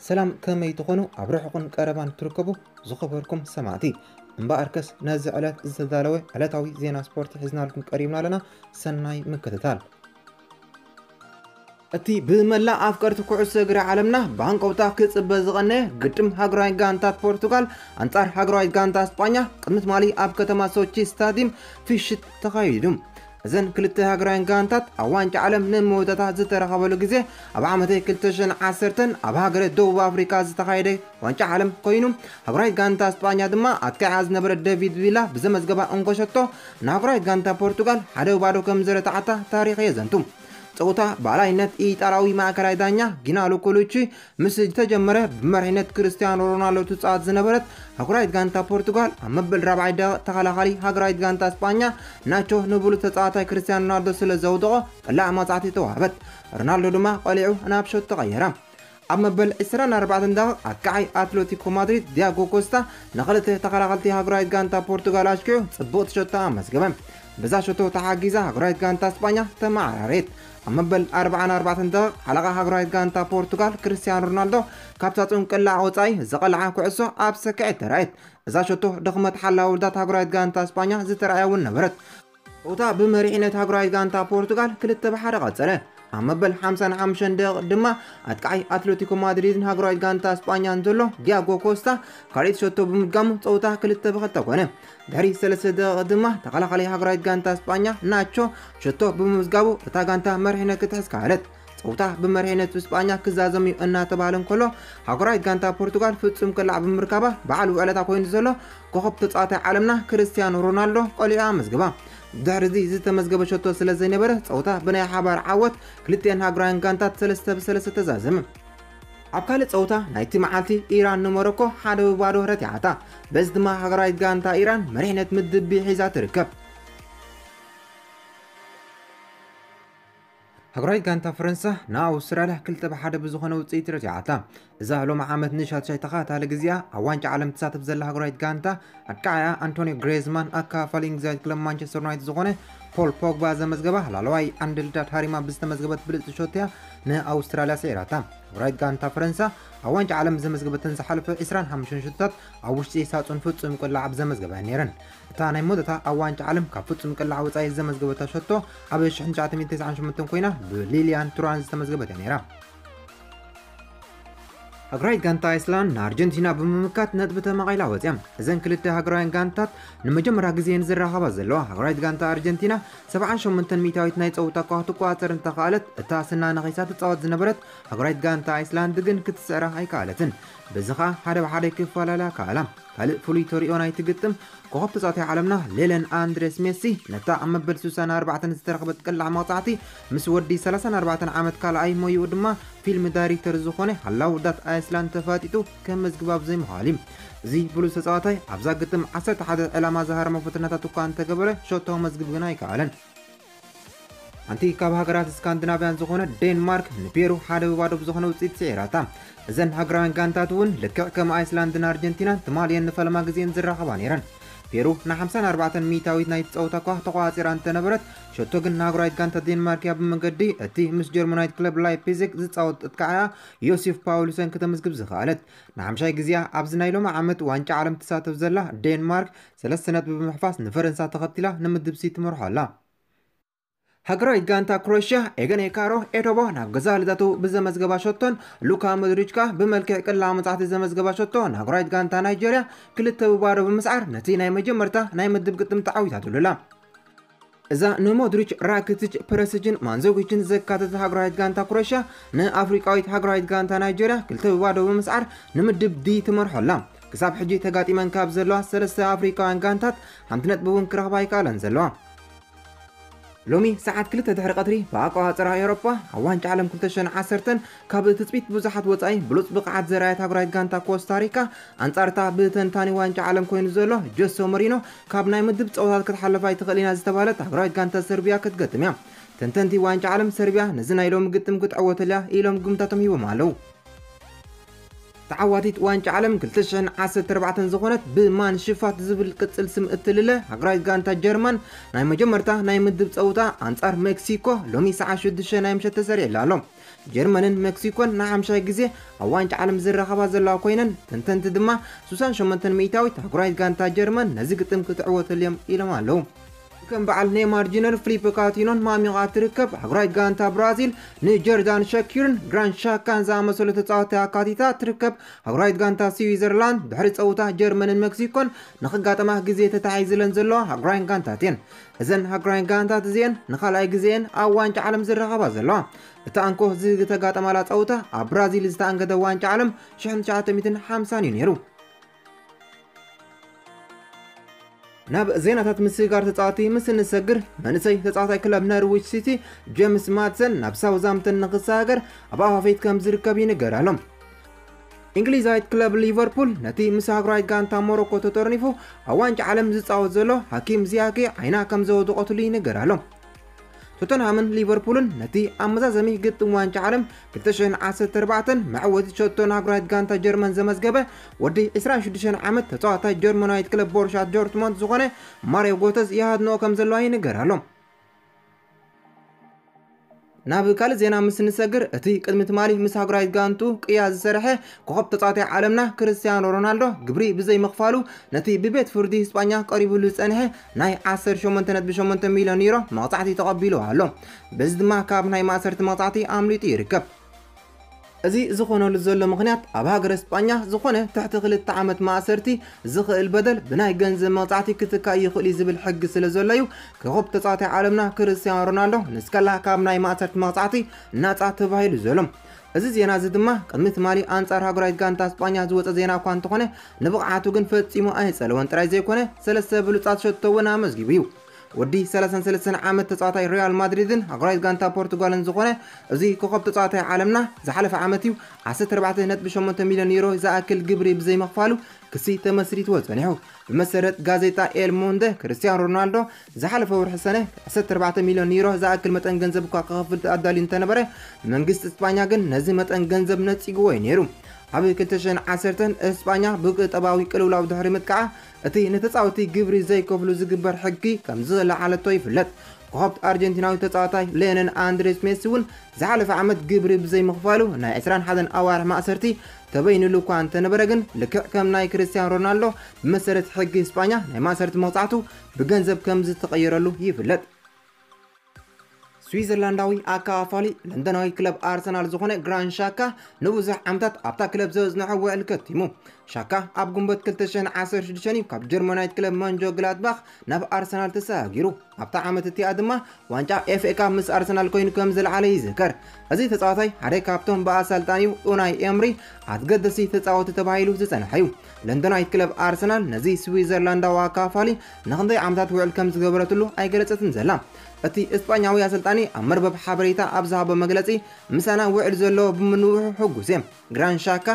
ሰላም፣ ከመይ ትኾኑ? ኣብ ርሑቕን ቀረባን ትርከቡ ዝኸበርኩም ሰማዕቲ፣ እምበኣርከስ ነዚ ዕለት ዝተዳለወ ዕለታዊ ዜና ስፖርት ሒዝናልኩም ቀሪብና ኣለና። ሰናይ ምክትታል። እቲ ብመላእ ኣፍቀርቲ ኩዕሶ እግሪ ዓለምና ብሃንቀውታ ክጽበ ዝቐነየ ግጥም ሃገራዊት ጋንታት ፖርቱጋል ኣንጻር ሃገራዊት ጋንታ ስጳኛ ቅድሚ ትማሊ ኣብ ከተማ ሶቺ ስታዲየም ፍሽት ተኻይዱ። እዘን ክልተ ሃገራውያን ጋንታት ኣብ ዋንጫ ዓለም ንመወዳእታ ዝተራኸበሉ ግዜ ኣብ ዓመተ ክልተ ሽሕን ዓሰርተን ኣብ ሃገረ ደቡብ ኣፍሪካ ዝተኻየደ ዋንጫ ዓለም ኮይኑ፣ ሃገራዊት ጋንታ ስጳኛ ድማ ኣጥቃዓ ዝነበረ ዴቪድ ቪላ ብዘመዝገባ እንኮ ሸቶ ንሃገራዊት ጋንታ ፖርቱጋል ሓደ ባዶ ከም ዝረታዓታ ታሪኽ የዘንቱ። ፀውታ ብኣላይነት ኢጣልያዊ ማእከላይ ዳኛ ጊናሎ ኮሉቺ ምስ ዝተጀመረ፣ ብመሪሕነት ክርስቲያኖ ሮናልዶ ትፃወት ዝነበረት ሃገራዊት ጋንታ ፖርቱጋል ኣብ መበል ራብዓይ ደቂቕ ተኸላኻሊ ሃገራዊት ጋንታ ስጳኛ ናቾ ንብሉፅ ተፃዋታይ ክርስቲያኖ ሮናልዶ ስለ ዘውደቖ ቅላዕ መቕፃዕቲ ተዋህበት። ሮናልዶ ድማ ቆሊዑ ናብ ሸቶ ተቐየረ። ኣብ መበል ዕስራን ኣርባዕተን ደቂቕ ኣጥቃዓይ ኣትሌቲኮ ማድሪድ ዲያጎ ኮስታ ንኽልተ ተኸላኸልቲ ሃገራዊት ጋንታ ፖርቱጋል ኣሽኪዑ ፅቡቕ ሸቶ ኣመዝገበ። በዛ ሸቶ ተሓጊዛ ሃገራዊት ጋንታ ስጳኛ ተመዓራረየት። ኣብ መበል ኣርባዓን ኣርባዕተን ደቂቕ ሓለቓ ሃገራዊት ጋንታ ፖርቱጋል ክርስቲያኖ ሮናልዶ ካብታ ፅንቅላዕ ወፃኢ ዝቐልዓ ኩዕሶ ኣብ ሰክዐት ተራእየት። እዛ ሸቶ ድኽመት ሓላዊ ውርዳት ሃገራዊት ጋንታ ስጳኛ ዝተረኣየ እውን ነበረት። ጸውታ ብመሪሕነት ሃገራዊት ጋንታ ፖርቱጋል ክልተ ብሓደ ቀጸለ። ኣብ መበል ሓምሳን ሓሙሽተን ደቂቕ ድማ ኣጥቃዓይ ኣትሌቲኮ ማድሪድን ሃገራዊት ጋንታ ስጳኛን ዘሎ ዲያጎ ኮስታ ካልኣይቲ ሸቶ ብምድጋሙ ጸውታ ክልተ ብክልተ ኮነ። ድሕሪ ሰለስተ ደቂቕ ድማ ተኸላኻሊ ሃገራዊት ጋንታ ስጳኛ ናቾ ሸቶ ብምምዝጋቡ እታ ጋንታ መሪሕነት ክትሕዝ ከኣለት። ጸውታ ብመሪሕነት ስጳኛ ክዛዘም እዩ እናተባህለ እንከሎ፣ ሃገራዊት ጋንታ ፖርቱጋል ፍጹም ቅላዕ ብምርካባ በዓል ውዕለታ ኮይኑ ዘሎ ኮኸብ ተጻዋታይ ዓለምና ክርስቲያኖ ሮናልዶ ቆሊዑ ኣመዝግባ። ድሕሪ እዚ ዝተመዝገበ ሸቶ ስለ ዘይነበረ፣ ጸውታ ብናይ ሓባር ዓወት ክልቲኤን ሃገራውያን ጋንታት ሰለስተ ብሰለስተ ተዛዘመ። ኣብ ካልእ ጸውታ ናይቲ መዓልቲ፣ ኢራን ንሞሮኮ ሓደ ብባዶ ረቲዓታ። በዚ ድማ ሃገራዊት ጋንታ ኢራን መሪሕነት ምድብ ቢ ሒዛ ትርከብ። ሃገራዊት ጋንታ ፈረንሳ ንኣውስትራልያ ክልተ ብሓደ ብዝኾነ ውፅኢት ረቲዓታ። እዛ ሎሚ ዓመት ንሻትሻይ ተኸታታሊ ግዜኣ ኣብ ዋንጫ ዓለም ትሳተፍ ዘላ ሃገራዊት ጋንታ፣ ኣጥቃዓያ ኣንቶኒዮ ግሬዝማን ኣካፋሊ እንግሊዛዊት ክለብ ማንቸስተር ዩናይትድ ዝኾነ ፖል ፖግባ ዘመዝገባ ላዕለዋይ ዓንዲ ልዳት ሃሪማ ብዝተመዝገበት ብልፅቲ ሸቶ እያ ንኣውስትራልያ ስዒራታ። ሃገራዊት ጋንታ ፈረንሳ ኣብ ዋንጫ ዓለም ዘመዝገበተን ዝሓለፈ ዕስራን ሓሙሽተን ሸቶታት ኣብ ውሽጢ ሳጹን ፍጹም ቅላዕ ኣብ ዘመዝገባ እየን ነይረን። እታ ናይ መወዳእታ ኣብ ዋንጫ ዓለም ካብ ፍጹም ቅላዕ ወጻኢ ዘመዝገበታ ሸቶ ኣብ ሽሕን ትሽዓተ ሚእትን ተስዓን ሸሞንተን ኮይና ብሊልያን ቱራን ዝተመዝገበት እያ ነይራ። ሃገራዊት ጋንታ ኣይስላንድ ንኣርጀንቲና ብምምካት ነጥቢ ተመቒላ ወፅያ። እዘን ክልተ ሃገራውያን ጋንታት ንመጀመርያ ግዜ እየን ዝራኸባ ዘለዋ። ሃገራዊት ጋንታ ኣርጀንቲና ሰብዓን ሸሞንተን ሚእታዊት ናይ ፀውታ ኳ ክትቆፃፀር እንተኸኣለት፣ እታ ስና ነኺሳ ትፃወት ዝነበረት ሃገራዊት ጋንታ ኣይስላንድ ግን ክትስዕራ ኣይከኣለትን። በዚ ኸኣ ሓደ ብሓደ ክፈላለያ ከኣላ። ካልእ ፍሉይ ተርእዮ ናይቲ ግጥም፣ ኮኸብ ተጻዋታይ ዓለምና ሌለን ኣንድሬስ ሜሲ ነታ ኣብ መበል ስሳን ኣርባዕተን ዝተረኽበት ቅላዕ መቕጻዕቲ ምስ ወዲ ሰላሳን ኣርባዕተን ዓመት ካልኣይ ሞይኡ ድማ ፊልም ዳይሬክተር ዝኾነ ሃላው ዳት ኣይስላንድ ተፋጢጡ ከመዝግባ ብዘይምኽኣል እዩ። እዚ ብሉጽ ተጻዋታይ ኣብዛ ግጥም ዓሰርተ ሓደ ዕላማ ዝሃረሞ ፈተናታት እኳ እንተገበረ ሸቶ መዝግብ ግን ኣይከኣለን። ሓንቲ ካብ ሃገራት ስካንዲናቭያን ዝኾነ ዴንማርክ ንፔሩ ሓደ ብባዶ ብዝኾነ ውፅኢት ስዒራታ። እዘን ሃገራውያን ጋንታት እውን ልክዕ ከም ኣይስላንድን ኣርጀንቲናን ትማሊ እየን ንፈለማ ግዜን ዝራኸባ ነይረን። ፔሩ ንሓምሳን ኣርባዕተን ሚእታዊት ናይቲ ፀወታ እኳ ተቋፂራ እንተነበረት፣ ሸቶ ግን ንሃገራዊት ጋንታ ዴንማርክ እያ ብመንገዲ እቲ ምስ ጀርመናዊት ክለብ ላይፕዚግ ዝፃወት ኣጥቃዓያ ዮሲፍ ፓውሉሰን ከተመዝግብ ዝኸኣለት። ንሓምሻይ ግዜያ ኣብዚ ናይ ሎሚ ዓመት ዋንጫ ዓለም ትሳተፍ ዘላ ዴንማርክ ሰለስተ ነጥቢ ብምሕፋስ ንፈረንሳ ተኸቲላ ንምድብ ሲ ትመርሖ ኣላ። ሃገራዊት ጋንታ ክሮኤሽያ ኤገን ኤካሮ ኤቶቦ ናብ ገዛ ልደቱ ብዘመዝገባ ሸቶን ሉካ ሞድሪች ከኣ ብመልክዕ ቅላ መጻሕቲ ዘመዝገባ ሸቶ ንሃገራዊት ጋንታ ናይጀርያ ክልተ ብባዶ ብምስዓር ነቲ ናይ መጀመርታ ናይ ምድብ ግጥም ተዓዊታትሉ ኣላ። እዛ ንሞድሪች፣ ራኪቲች፣ ፐረሲችን ማንዞጊችን ዘካተተ ሃገራዊት ጋንታ ክሮኤሽያ ንኣፍሪቃዊት ሃገራዊት ጋንታ ናይጀርያ ክልተ ብባዶ ብምስዓር ንምድብ ዲ ትመርሖ ኣላ። ክሳብ ሕጂ ተጋጢመን ካብ ዘለዋ ሰለስተ ኣፍሪቃውያን ጋንታት ሓንቲ ነጥቢ እውን ክረኽባ ኣይከኣለን ዘለዋ። ሎሚ ሰዓት ክልተ ድሕሪ ቀትሪ ብኣቆጻጽራ ኤውሮጳ ኣብ ዋንጫ ዓለም ክልተ ሽሕን ዓሰርተን ካብ ትጽቢት ብዙሓት ወጻኢ ብሉጽ ብቕዓት ዘርኣየት ሃገራዊት ጋንታ ኮስታሪካ ኣንጻርታ ብተንታኒ ዋንጫ ዓለም ኮይኑ ዘሎ ጆሶ ሞሪኖ ካብ ናይ ምድብ ጸወታት ክትሓልፍ ኣይትኽእል ኢና ዝተባህለት ሃገራዊት ጋንታ ሰርቢያ ክትገጥም እያ። ተንተንቲ ዋንጫ ዓለም ሰርቢያ ነዚ ናይ ሎሚ ግጥም ክትዕወተሉ እያ ኢሎም ግምታቶም ሂቦም ኣለዉ። ተዓዋቲት ዋንጫ ዓለም ክልተ ሽሕን ዓሰርተ ኣርባዕተን ዝኾነት ብማን ሽፋት ዝብል ቅጽል ስም እትልለ ሃገራዊት ጋንታ ጀርመን ናይ መጀመርታ ናይ ምድብ ጸውታ ኣንጻር ሜክሲኮ ሎሚ ሰዓት ሽዱሽተ ናይ ምሸት ተሰሪዕላ ኣሎ። ጀርመንን ሜክሲኮን ንሓምሻይ ግዜ ኣብ ዋንጫ ዓለም ዝራኸባ ዘለዋ ኮይነን፣ ተንተንቲ ድማ ሱሳን ሸሞንተን ሚእታዊት ኣህጉራዊት ጋንታ ጀርመን ነዚ ግጥም ክትዕወተሉ እዮም ኢሎም ኣለዉ። ከም በዓል ኔይማር ጁኒየር፣ ፍሊፕ ካቲኖን ማሚቓ ትርከብ ኣህጉራዊት ጋንታ ብራዚል ንጆርዳን ሸኪርን ግራንድ ሻካን ዝኣመሰሉ ተጻወትቲ ኣካቲታ ትርከብ ኣህጉራዊት ጋንታ ስዊዘርላንድ ድሕሪ ጸውታ ጀርመንን ሜክሲኮን ንኽጋጠማ ግዜ ተታሒዝለን ዘለዋ ኣህጉራውያን ጋንታት እየን። እዘን ኣህጉራውያን ጋንታት እዚኤን ንኻልኣይ ግዜኤን ኣብ ዋንጫ ዓለም ዝራኸባ ዘለዋ። እቲ ኣንኮ ዝተጋጠማላ ጸውታ ኣብ ብራዚል ዝተኣንገደ ዋንጫ ዓለም ሽሕን ትሽዓተ ሚእትን ሓምሳን እዩ ነይሩ። ናብ ዜናታት ምስግጋር ተጻወቲ ምስ እንሰግር፣ መንእሰይ ተጻዋታይ ክለብ ነርዊች ሲቲ ጄምስ ማድሰን ናብ ሳውዝሃምፕተን ንኽሰጋገር ኣብ ኣፋፌት ከም ዝርከብ ይንገር ኣሎ። እንግሊዛዊት ክለብ ሊቨርፑል ነቲ ምስ ሃገራዊት ጋንታ ሞሮኮ ተጠርኒፉ ኣብ ዋንጫ ዓለም ዝጻወት ዘሎ ሃኪም ዚያኬ ዓይና ከም ዘወደቐትሉ ይንገር ኣሎ። ቶተንሃምን ሊቨርፑልን ነቲ ኣብ መዛዘሚ ግጥም ዋንጫ ዓለም ክልተ ሽሕን ዓሰርተ ኣርባዕተን መዕወቲ ሸቶ ንሃገራዊት ጋንታ ጀርመን ዘመዝገበ ወዲ ዕስራን ሽዱሽተን ዓመት ተጻዋታይ ጀርመናዊት ክለብ ቦሩሻ ዶርትሞንድ ዝኾነ ማሪዮ ጎተዝ ይሃድንኦ ከም ዘለዋ ይንገር ኣሎ። ናብ ካልእ ዜና ምስ ንሰግር፣ እቲ ቅድሚ ትማሊ ምስ ሃገራዊት ጋንቱ ቅያ ዝሰርሐ ኮኸብ ተጻዋታይ ዓለምና ክርስቲያኖ ሮናልዶ ግብሪ ብዘይምኽፋሉ ነቲ ብቤት ፍርዲ ስጳኛ ቀሪቡሉ ዝጸንሐ ናይ ዓሰርተ ሸሞንተ ነጥቢ ሸሞንተ ሚልዮን ዩሮ መቕጻዕቲ ተቐቢሉ ኣሎ። በዚ ድማ ካብ ናይ ማእሰርቲ መቕጻዕቲ ኣምሊጡ ይርከብ። እዚ ዝኾነሉ ዘሎ ምኽንያት ኣብ ሃገረ ስጳኛ ዝኾነ ትሕቲ ክልተ ዓመት ማእሰርቲ ዝኽእል በደል ብናይ ገንዘብ መቕጻዕቲ ክትካእ ይኽእል እዩ ዝብል ሕጊ ስለ ዘሎ እዩ። ኮኸብ ተጻዋታይ ዓለምና ክርስቲያኖ ሮናልዶ ንስከላ ካብ ናይ ማእሰርቲ መቕጻዕቲ ናጻ ተባሂሉ ዘሎ። እዚ ዜና እዚ ድማ ቅድሚ ትማሊ ኣንጻር ሃገራዊት ጋንታ ስጳኛ ዝወጸ ዜና እኳ እንተኾነ፣ ንብቕዓቱ ግን ፈጺሙ ኣይጸለወን ጥራይ ዘይኮነ፣ ሰለስተ ብሉጻት ሸቶ እውን ኣመዝጊቡ እዩ። ወዲ ሰላሳን ሰለስተን ዓመት ተጻዋታይ ሪያል ማድሪድን ሃገራዊት ጋንታ ፖርቱጋልን ዝኾነ እዚ ኮኸብ ተጻዋታይ ዓለምና ዝሓለፈ ዓመት እዩ ዓሰርተ ኣርባዕተ ነጥቢ ሸሞንተ ሚልዮን ዩሮ ዝኣክል ግብሪ ብዘይምኽፋሉ ክሲ ተመስሪትዎ ጸኒሑ። ብመሰረት ጋዜጣ ኤል ሞንደ፣ ክርስቲያኖ ሮናልዶ ዝሓለፈ ወርሒ ሰነ ዓሰርተ ኣርባዕተ ሚልዮን ዩሮ ዝኣክል መጠን ገንዘብ እኳ ክኸፍል ኣዳልዩ እንተነበረ፣ መንግስቲ እስጳኛ ግን ነዚ መጠን ገንዘብ ነጺግዎ እዩ ነይሩ። ኣብ ክልተ ሽሕን ዓሰርተን እስጳኛ ብቁጠባዊ ቅልውላው ድሕሪ ምጥቃዓ፣ እቲ ንተጻወቲ ግብሪ ዘይከፍሉ ዝግበር ሕጊ ከም ዝለዓለቶ ይፍለጥ። ኮኸብ ኣርጀንቲናዊ ተጻዋታይ ሌዮነል ኣንድሬስ ሜሲ እውን ዝሓለፈ ዓመት ግብሪ ብዘይምኽፋሉ ናይ ዕስራን ሓደን ኣዋርሕ ማእሰርቲ ተበይኑሉ እኳ እንተነበረ፣ ግን ልክዕ ከም ናይ ክርስቲያኖ ሮናልዶ ብመሰረት ሕጊ እስጳኛ ናይ ማእሰርቲ መቕጻዕቱ ብገንዘብ ከም ዝተቐየረሉ ይፍለጥ። ስዊዘርላንዳዊ ኣከፋፋሊ ለንደናዊ ክለብ ኣርሰናል ዝኾነ ግራንድ ሻካ ንብዙሕ ዓመታት ኣብታ ክለብ ዘጽንሖ ውዕል ከቲሙ። ሻካ ኣብ ግንቦት ክልተ ሽሕን ዓሰርተ ሽዱሽተን እዩ ካብ ጀርመናዊት ክለብ መንጆ ግላድባኽ ናብ ኣርሰናል ተሰጋጊሩ። ኣብታ ዓመት እቲኣ ድማ ዋንጫ ኤፍ ኤ ካፕ ምስ ኣርሰናል ኮይኑ ከም ዝለዓለ ይዝከር። እዚ ተጻዋታይ ሓደ ካብቶም ብኣሰልጣኒኡ ኡናይ ኤምሪ ኣገደስቲ ተጻወቲ ተባሂሉ ዝጸንሐ እዩ። ለንደናዊት ክለብ ኣርሰናል ነዚ ስዊዘርላንዳዊ ኣከፋፋሊ ንኽንደይ ዓመታት ውዕል ከም ዝገበረትሉ ኣይገለጸትን ዘላ። እቲ እስጳኛዊ ኣሰልጣኒ ኣብ መርበብ ሓበሬታ ኣብ ዝሃቦ መግለጺ፣ "ምሳና ውዕል ዘለዎ ብምንውሑ ሕጉስ እየ። ግራንድ ሻካ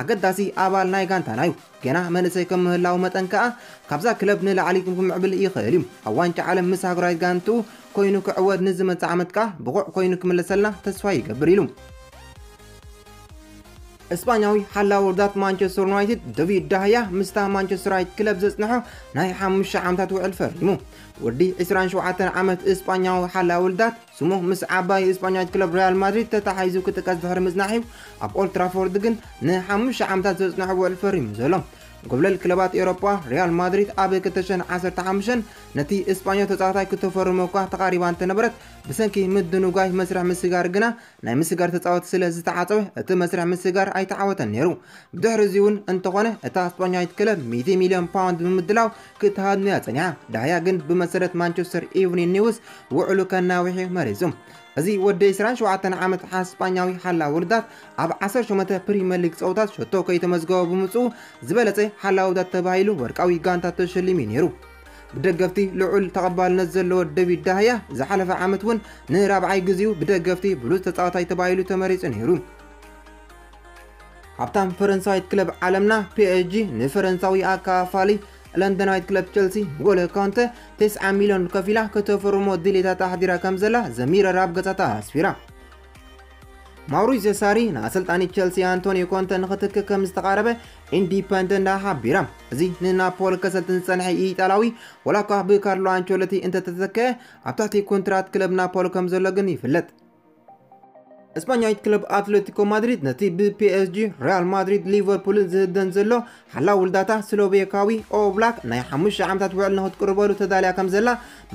ኣገዳሲ ኣባል ናይ ጋንታና እዩ። ገና መንእሰይ ከም ምህላው መጠን ከኣ ካብዛ ክለብ ንላዕሊ ክምዕብል ይኽእል እዩ። ኣብ ዋንጫ ዓለም ምስ ሃገራዊት ጋንትኡ ኮይኑ ክዕወት ንዝመጽእ ዓመት ከኣ ብቑዕ ኮይኑ ክምለሰልና ተስፋ ይገብር" ኢሉ። እስጳኛዊ ሓላዊ ውርዳት ማንቸስተር ዩናይትድ ዴቪድ ዳህያ ምስታ ማንቸስተራዊት ክለብ ዘጽንሖ ናይ ሓሙሽተ ዓመታት ውዕል ፈሪሙ። ወዲ ዕስራን ሸውዓተን ዓመት እስጳኛዊ ሓላዊ ውርዳት ስሙ ምስ ዓባይ እስጳኛዊት ክለብ ሪያል ማድሪድ ተታሓሒዙ ክጥቀስ ድሕሪ ምጽናሕ እዩ ኣብ ኦልድ ትራፎርድ ግን ንሓሙሽተ ዓመታት ዘጽንሖ ውዕል ፈሪሙ ዘሎ። ጎብለል ክለባት ኤውሮጳ ሪያል ማድሪድ ኣብ ክልተ ሽሕን ዓሰርተ ሓሙሽተን ነቲ እስጳኛዊ ተጻዋታይ ክተፈርሞ እኳ ተቓሪባ እንተነበረት፣ ብሰንኪ ምድንጓይ መስርሕ ምስጋር ግና ናይ ምስጋር ተጻወቲ ስለ ዝተዓጸወ፣ እቲ መስርሕ ምስጋር ኣይተዓወተን ነይሩ። ብድሕሪ እዚ እውን እንተኾነ፣ እታ ስጳኛዊት ክለብ ሚእቲ ሚልዮን ፓውንድ ብምድላው ክትሃድኖ እያ ጸኒሓ። ዳህያ ግን ብመሰረት ማንቸስተር ኢቭኒንግ ኒውስ ውዕሉ ከናውሕ እዩ መሪጹ። እዚ ወዲ ዕስራን ሸውዓተን ዓመት ሓ-፣ ስጳኛዊ ሓላ ውርዳት ኣብ ዓሰርተ ሸሞንተ ፕሪምየር ሊግ ጸወታት ሸቶ ከይተመዝገበ ብምጽኡ ዝበለጸ ሓላ ውርዳት ተባሂሉ ወርቃዊ ጋንታ ተሸሊሙ እዩ ነይሩ። ብደገፍቲ ልዑል ተቐባልነት ዘለዎ ዴቪድ ዳህያ ዝሓለፈ ዓመት እውን ንራብዓይ ግዜኡ ብደገፍቲ ብሉጽ ተጻዋታይ ተባሂሉ ተመሪጹ ነይሩ። ሃብታም ፈረንሳዊት ክለብ ዓለምና ፒ ኤስ ጂ ንፈረንሳዊ ኣካፋሊ ለንደናዊት ክለብ ቸልሲ ንጎሎ ኮንተ ተስዓ ሚልዮን ከፊላ ከተፈርሞ ድሌታት ኣሕዲራ ከም ዘላ ዘሚረር ኣብ ገጻታ ኣስፊራ። ማውሪዚዮ ሳሪ ንኣሰልጣኒ ቸልሲ ኣንቶኒዮ ኮንተ ንኽትክ ከም ዝተቓረበ ኢንዲፐንደንት ሓቢራ። እዚ ንናፖሊ ከሰልጥን ዝጸንሐ ኢጣልያዊ፣ ዋላ እኳ ብካርሎ ኣንቸሎቲ እንተተተክአ፣ ኣብ ትሕቲ ኮንትራት ክለብ ናፖሊ ከም ዘሎ ግን ይፍለጥ። እስፓኛዊት ክለብ ኣትሌቲኮ ማድሪድ ነቲ ብፒኤስጂ፣ ሪያል ማድሪድ፣ ሊቨርፑልን ዝህደን ዘሎ ሓላው ውልዳታ ስሎቬካዊ ኦብላክ ናይ ሓሙሽተ ዓመታት ውዕል ንክትቅርበሉ ተዳልያ ከም ዘላ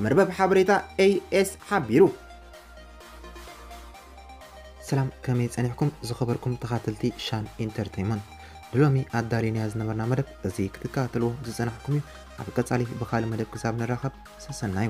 መርበብ ሓበሬታ ኤኤስ ሓቢሩ። ሰላም፣ ከመይ ጸኒሕኩም ዝኸበርኩም ተኻተልቲ ሻን ኢንተርቴይንመንት? ንሎሚ ኣዳሊናያ ዝነበርና መደብ እዚ ክትከታተልዎ ዝጸናሕኩም እዩ። ኣብ ቀጻሊ ብኻልእ መደብ ክሳብ ንራኸብ ሰሰናዩ።